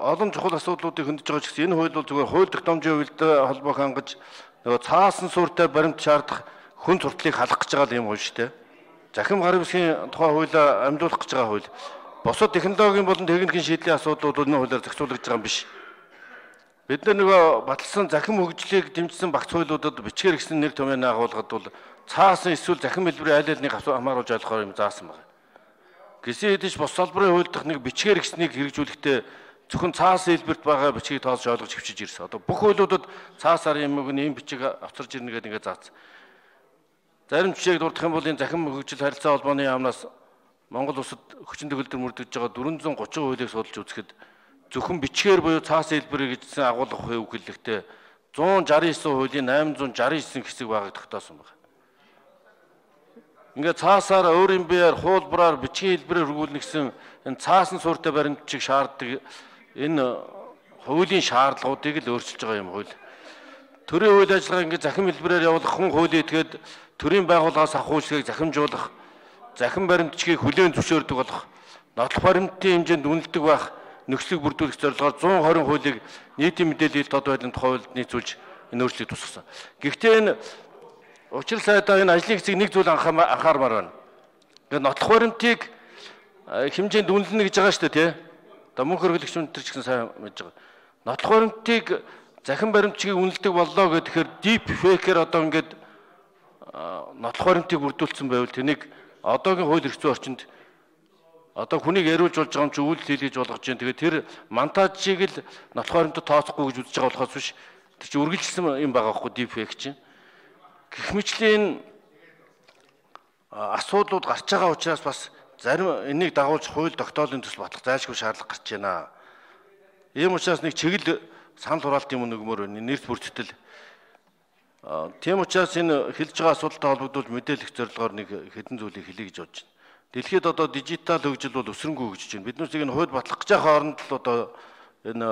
олон чухал асуудлуудыг хөндөж байгаа ч гэсэн энэ хууль бол зүгээр хууль тогтоомжийн хувьд холбоог хангаж нөгөө цаасан суурьтай баримт шаардах хүн сурталыг халах гэж байгаа юм хууль шүү дээ. Захим гарын бүсгийн тухай хуулиа амьдуулах гэж байгаа хууль. Бусад технологийн болон техникийн шийдлийн асуудлууд энэ хуулиар зохицуулагдж байгаа юм биш. Бид нөгөө баталсан захим хөгжлийг дэмжсэн багц хуулиудад бичгээр гэсэн нэр томьёо агуулгад бол цаасан эсвэл захим хэлбэрийн аль алиныг хамааруулж ойлгохоор юм заасан байна. Гэсэн хэдиж бус салбарын хууль дах нэг бичгээр гэснийг хэрэгжүүлэхдээ зөвхөн цаасан хэлбэрт байгаа бичгийг тоосч ойлгож хөвчиж ирсэн. Одоо бүх хуулиудад цаасаар юм ийм бичиг авчирж ирнэ гэдэг ингээд заасан. Зарим жишээг дурдах юм бол энэ захим хөгжил харилцаа холбооны яамнаас Монгол улсад хүчин төгөлдөр мөрдөж байгаа 430 хуулийг судалж үзэхэд зөвхөн бичгээр буюу цаасан хэлбэрийг гэсэн агуулга хөвгөлөлтөд 169 хуулийн 869 хэсэг байгааг тогтоосон байна. Ингээд цаасаар өөрийн биеэр хуулбараар бичгийн хэлбэрээр хөргүүлнэ гэсэн энэ цаасан суурьтай баримтчиг шаарддаг энэ хуулийн шаардлагуудыг л өөрчилж байгаа юм хууль. Төрийн хууль ажиллагаа ингээд захим хэлбэрээр явуулах хүн хуулийн этгээд төрийн байгууллагаас авах үйлчлэгийг захимжуулах, захим баримтчгийг хүлээн зөвшөөрдөг болох, нотлох баримтын хэмжээнд үнэлдэг байх нөхцөлийг бүрдүүлэх зорилгоор 120 хуулийг нийтийн мэдээлэл тод байдлын тухай хуулиуд нийцүүлж энэ өөрчлөлт тусгасан. Гэхдээ энэ учир сайдаа энэ ажлын хэсэг нэг зүйл анхаармаар байна. Ингээд нотлох баримтыг хэмжээнд үнэлнэ гэж байгаа шүү дээ, тий. Одоо мөнх хөргөлөгч өнтер ч гэсэн сайн мэдж байгаа. Нотлох баримтыг захин баримтчгийг үнэлдэг боллоо гэхээр deep fake-ээр одоо ингээд нотлох баримтыг бүрдүүлсэн байвал тэнийг одоогийн хууль эрх зүйн орчинд одоо хүнийг яриулж болж байгаа юм чи үйлдэл хийлгэж болгож байна. Тэгээд тэр монтажийг л нотлох баримтад тооцохгүй гэж үзэж байгаа болохоос биш. Тэр чи үргэлжилсэн юм байгаа байхгүй deep fake чинь. Гэх мэтлийн асуудлууд гарч байгаа учраас бас зарим энийг дагуулж хууль тогтоолын төсөл батлах зайлшгүй шаардлага гарч байна. Ийм учраас нэг чиглэл санал хураалтын юм нөгмөр байна. Нэрс бүртгэл. Тийм учраас энэ хэлж байгаа асуудалтай холбогдуулж мэдээлэх зорилгоор нэг хэдэн зүйлийг хэлье гэж бодож байна. Дэлхийд одоо дижитал хөгжил бол өсрөнгөө хөгжиж байна. Биднээс энэ хууль батлах гэж байгаа хооронд л одоо энэ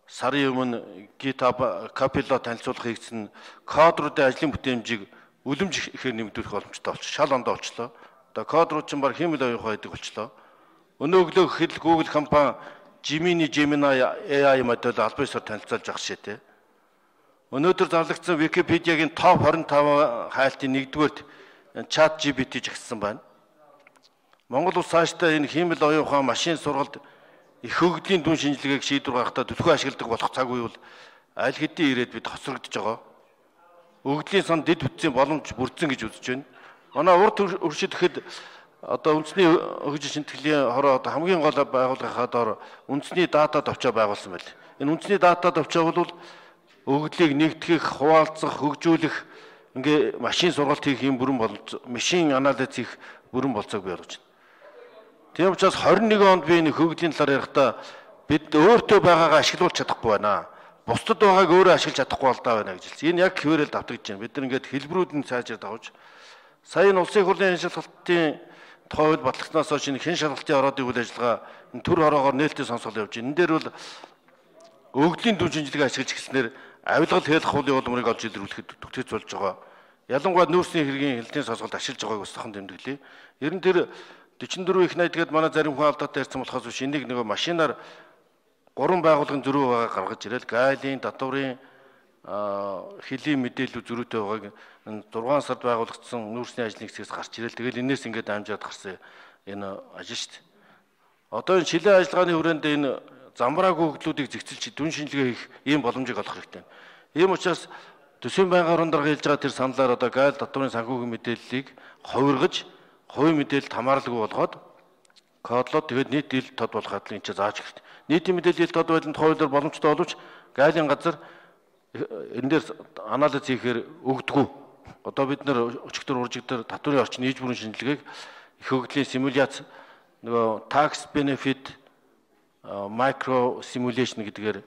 сарын өмнө GitHub Copilot танилцуулах хийгдсэн кодруудын ажлын бүтээмжийг үлэмж ихээр нэмэгдүүлэх боломжтой болчих. Шал ондоо болчлоо. Одоо кодрууд ч баг хиймэл оюухан байдаг болчлоо. Өнөө өглөө гэхэд Google компани Gemini AI модель албан ёсоор танилцуулж авах шээ. Өнөөдөр зарлагдсан Википедиагийн топ 25 хайлтын 1-р ChatGPT жагссан байна. Монгол улс цаашдаа энэ хиймэл оюухан машин сургалт их хөгжлийн дүн шинжилгээг шийдвэр гаргахад төлхөө ашигладаг болох цаг үе бол аль хэдийн ирээд бид хоцрогдож байгаа. Өгдлийн сан дэд бүтцийн боломж бүрдсэн гэж үзэж байна. Манай урд өршид гэхэд одоо үндэсний хөгжил шинтгэлийн хороо одоо хамгийн гол байгууллагын доор үндэсний дата товчоо байгуулсан байл. Энэ үндэсний дата товчоо бол өгдлийг нэгтгэх, хуваалцах, хөгжүүлэх ингээ машин сургалт хийх юм бүрэн болж, машин анализ хийх бүрэн болцоог бий болгож байна. Тийм учраас 21 онд би энэ хөгжлийн талаар ярихдаа бид өөртөө байгаагаа ашиглуулж чадахгүй байна. Бусдад байгааг өөрөө ашиглаж чадахгүй болдоо байна гэж хэлсэн. Энэ яг хിവэрэл давтагдж байна. Бид нар ингээд хэлбэрүүдэн цаажаар давж сая энэ улсын хурлын хэн шалгалтын тухай хууль батлагснаас хойш энэ хэн шалгалтын ороод үйл ажиллагаа төр хороогоор нээлттэй сонсгол явж байна. Энэ дээр бол өгдлийн дүн шинжилгээ ашиглаж эхэлснээр авилгал хэлэх хуулийн улмыг олж илрүүлэхэд төгтөж болж байгаа. Ялангуяа нүүрсний хэргийн хяналтын сонсголд ашиглаж байгааг бас тохон тэмдэглэе. Ер нь тэр 44 их 80 гээд манай зарим хүн алдаатай ярьсан болохоос биш энийг нэг машинаар 3 байгууллагын зөрүү байгааг гаргаж ирэл гайлын, татврын хэлийн мэдээлэл зөрүүтэй байгааг 6 сард байгуулагдсан нүүрсний ажлын хэсгээс гарч ирэл. Тэгэл энэс ингээд амжаад гарсан энэ ажил шүү дээ. Одоо энэ шилэн ажиллагааны хүрээнд энэ замбраагүй хөглүүдийг зэгцэлж дүн шинжилгээ хийх ийм боломжийг олох хэрэгтэй. Ийм учраас төсвийн байнгын орон дарга хэлж байгаа тэр саналаар одоо гайл татврын санхүүгийн мэдээллийг хувиргаж хувийн мэдээлэлд хамааралгүй болгоод кодлоод тэгээд нийт ил тод болох хадлыг энэ зааж хэрэгтэй. Нийтийн мэдээлэл тод байланд хуулиар боломжтой боловч гайлын газар энэ дээр анализ хийхээр өгдөггүй. Одоо бид нэр өчигдөр уржигдөр татврын орчин нийт бүрэн шинжилгээг их хөгжлийн симуляц нөгөө tax benefit micro simulation гэдгээр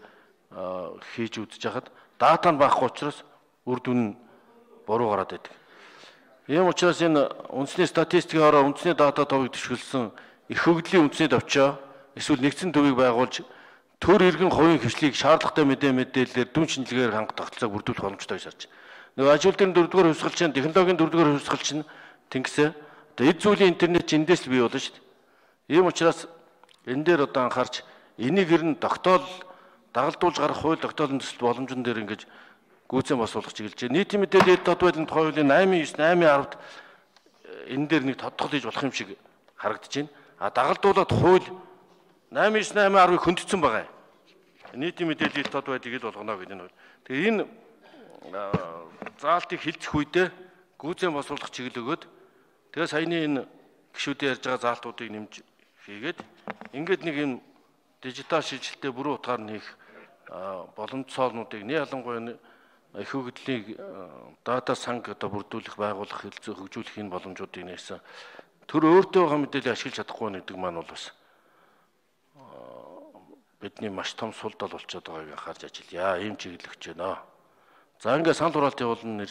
хийж үзэж хахад дата нь багхгүй учраас үр дүн буруу гараад байдаг. Ийм учраас энэ үндэсний статистикийн ороо үндэсний дата товыг төшөөлсөн их хөгжлийн үндэсний товчоо эсвэл нэгдсэн төвийг байгуулж төр иргэн хувийн хвшлийг шаардлагатай мэдээлэлээр дүн шинжилгээгээр хангах тогтолцоог бүрдүүлэх боломжтой гэж харж байна. Нөгөө ажил дээр 4-р хувьсгалчин, технологийн 4-р хувьсгалчин тэнгисээ одоо эд зүйлийн интернет эндээс л бий болно шүү дээ. Ийм учраас энэ дээр одоо анхаарч Энийг ер нь тогтоол дагалдуулж гарах хууль тогтоолын төсөл боломжн дээр ингэж гүйцэн босуулах чиглэж байна. Нийтийн мэдээлэл дод байдлын тухай хуулийн 8.9, 8.10-д энэ дээр нэг тодтогол хийж болох юм шиг харагдаж байна. А дагалдуулаад хууль 8.9, 8.10-ыг хөндөгцөн байгаа юм. Нийтийн мэдээлэл дод байдлыг ил болгоно гэдэг нь. Тэгээ энэ заалтыг хилцэх үедээ гүйцэн босуулах чиглэл өгөөд тэгээ саяны энэ гишүүдийн ярьж байгаа заалтуудыг нэмж хийгээд ингээд нэг юм дижитал шилжилттэй бүрэн утгаар нь хийх боломжцоолнуудыг ялангуяа их хөгжлийн дата санг одоо бүрдүүлэх, байгуулах, хөгжүүлэх энэ боломжуудыг нээсэн. Тэр өөртөө байгаа мэдээлэл ашиглаж чадахгүй гэдэг маань бол бас бидний маш том сул тал болчиход байгааг харж ажиллая. Ийм чиглэл өгч байна. За ингээд санал хураалт явуулна